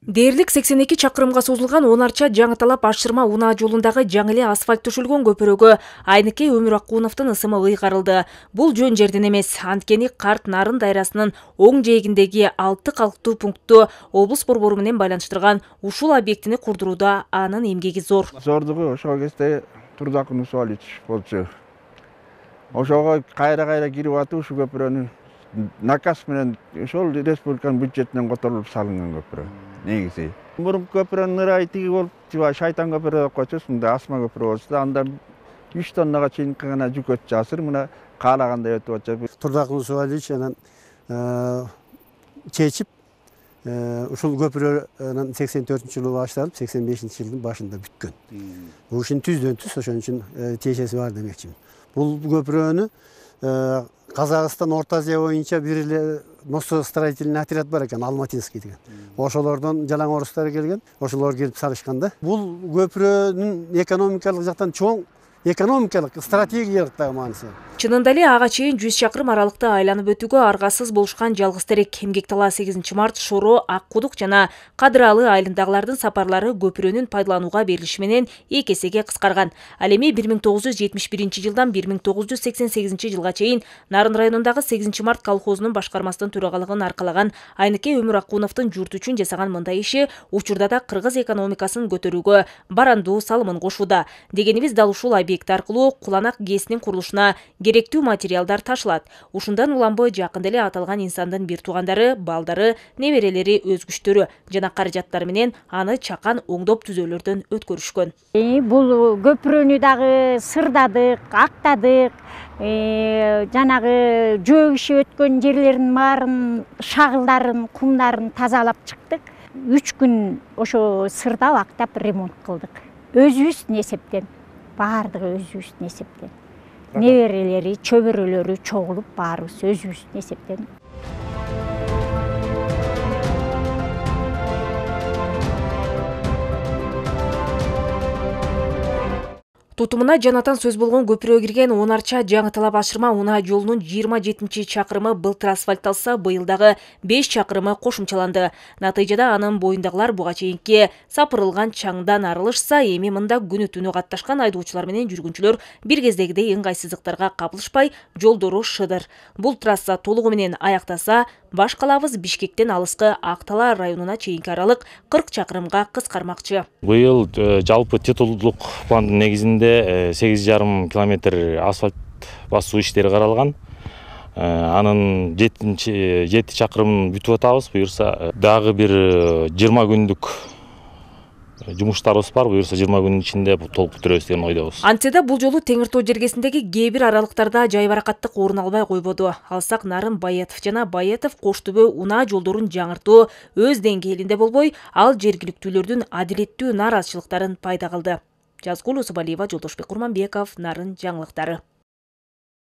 Дээрлик 82 чакырымга созулган Онарча Жаңыталап Ашырма унаа жолундагы жаңы эле асфальт төшөлгөн көпүрөгө Айныкей Өмүр Акуновдун ысымы ыйгарылды. Бул жөн жерден эмес, анткени Карт Нарын дайрасынын оң жээгиндеги 6 калктуу пунктту облус борбору менен байланыштырган ушул объектини курдурууда анын эмгеги зор. Зордугу ошол кезде Турдакын Усуалич болчу. Ошого кайра кирип атып ушу көпүрөнү наказ менен ошол республиканын бюджетинен которулуп салынган көпүрө. Негизи. Мурунку көпүрөнүн ырайы тиги болуп, шайтан көпүрө деп койчу, мында асма көпүрө болчу да, анда 3 тоннага чейин гана жүк өтүп жатыр, мына каалагандай өтүп атат. Турдакын Усуалич анан чечип, ушул көпүрөнүн 84-жылы башталып, 85-жылдын башында бүткөн. Бул ишин түздөн түз ошон үчүн тиешеси бар демекчимин. Бул көпүрөнү Казакстан, Орто Азия боюнча бир эле мостостроительный отряд бар экен, Алматинский деген. Ошолордон жалаң орустар келген, ошолор келип салышкан да. Бул көпүрөнүн экономикалык жактан чоң экономикалык, стратегиялык да мааниси. Чынында эле ага чейин 100 чакырым аралыкта айланып өтүүгө аргасыз болушкан жалгыз терек Эмгектала 8 март, Шоро, Ак Кудук жана Кадыралы айылындагылардын сапарлары көпүрөнүн пайдаланууга берилиши менен 2 эсеге кыскарган. Ал эми 1971-жылдан 1988 жылга чейин Нарын районундагы 8 март колхозунун башкармасынын төрагалыгын аркалаган Айныкей Өмүр Акуновдун журт үчүн жасаган мындай иши учурда да кыргыз экономикасын көтөрүүгө барандуу салымын кошууда. Дегенибиз дал ушул объект аркылуу Куланак ГЭСинин курулушуна керектүү материалдар ташылат. Ушундан уланбой жакында эле аталган инсандын бир туугандары, балдары, неберелери, өзгүчтөрү жана каражаттары менен аны чакан оңдоп түзөөлөрдөн өткөрүшкөн. Бул көпүрөнү дагы сырдадык, актадык, жанагы жөө иши өткөн жерлерин баарын, шагылдарын, кумдарын тазалап чыктык. 3 күн ошо сырдап, актап ремонт кылдык. Өзүбүздүн эсептен, баардыгы өзүбүздүн эсептен. Неберелери, чөбөрөлөрү чогулуп баарыбыз өзүбүздүн эсептен. Тутумуна жанатан сөз болгон көпүрөгө кирген Онарча Жаңыталап Ашырма унаа жолунун 27 чакырымы былтыр асфальтталса, быйыл дагы 5 чакырымы кошумчаланды. Натыйжада анын боюндагылар буга чейинки сапырылган чаңдан арылышса, эми мында күнү түнү катташкан айдоочулар менен жүргүнчүлөр бир кездегидей ыңгайсыздыктарга кабылышпай, жолдору шыдыр. Бул трасса толугу менен аяктаса, баш калабыз Бишкектен алыскы Актала районуна чейинки аралык 40 чакырымга кыскармакчы. Быйыл жалпы титулдук пландын негизинде 8,5 километр асфальт басуу иштери каралган. Анын 7 чакырымын бүтүп атабыз. Буюрса дагы бир 20 күндүк жумуштарыбыз бар. Буюрса 20 күнүн ичинде толук бүтүрөбүз деген ойдобуз. Антседе бул жолу Теңир Тоо жергесиндеги кээ бир аралыктарда жайбаракаттык орун албай койбоду. Алсак Нарын Баятов жана Баятов Коштөбө унаа жолдорун жаңыртуу өз деңгээлинде болбой, ал жергиликтүүлөрдүн адилеттүү нааразычылыктарын пайда кылды. Жазгул Усубалиева, Жолдошбек Курманбеков, Нарын жаңылыктары.